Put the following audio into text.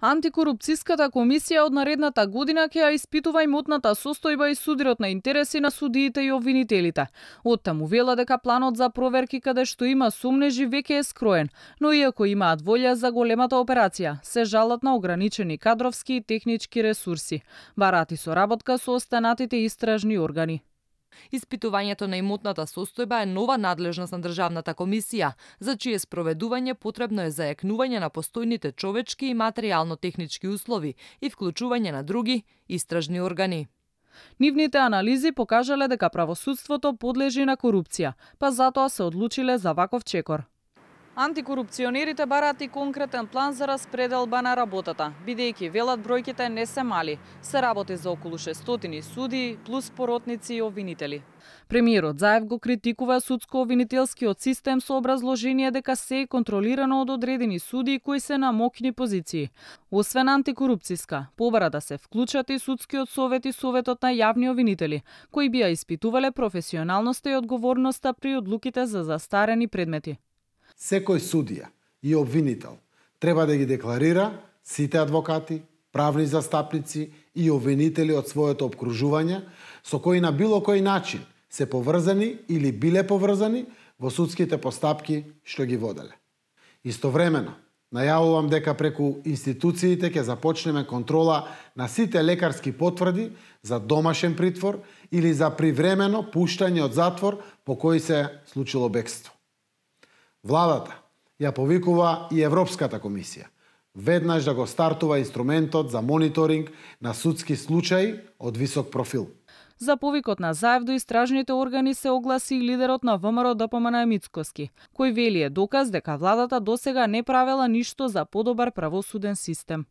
Антикорупцијската комисија од наредната година ќе ја испитува имотната состојба и судирот на интереси на судиите и обвинителите. Оттаму вела дека планот за проверки каде што има сомнежи веќе е скроен, но иако имаат волја за големата операција, се жалат на ограничени кадровски и технички ресурси. Барат и соработка со останатите истражни органи. Испитувањето на имотната состојба е нова надлежност на Државната комисија, за чие спроведување потребно е зајакнување на постојните човечки и материјално-технички услови и вклучување на други истражни органи. Нивните анализи покажале дека правосудството подлежи на корупција, па затоа се одлучиле за ваков чекор. Антикорупционерите бараат и конкретен план за распределба на работата, бидејќи велат бројките не се мали. Се работи за околу 600 судии плюс поротници и обвинители. Премиерот Заев го критикува судско-обвинителскиот систем со образложение дека се е контролирано од одредени судии кои се на моќни позиции. Освен антикорупцијска, побара да се вклучат и судскиот совет и советот на јавни обвинители, кои би ја испитувале професионалноста и одговорноста при одлуките за застарени предмети. Секој судија и обвинител треба да ги декларира сите адвокати, правни застапници и обвинители од своето опкружување со кои на било кој начин се поврзани или биле поврзани во судските постапки што ги воделе. Истовремено, најавувам дека преку институциите ќе започнеме контрола на сите лекарски потврди за домашен притвор или за привремено пуштање од затвор по кој се случило бегство. Владата ја повикува и Европската комисија веднаш да го стартува инструментот за мониторинг на судски случаи од висок профил. За повикот на Заев до истражните органи се огласи и лидерот на ВМРО ДПМН Мицкоски, кој вели е доказ дека владата досега не правела ништо за подобар правосуден систем.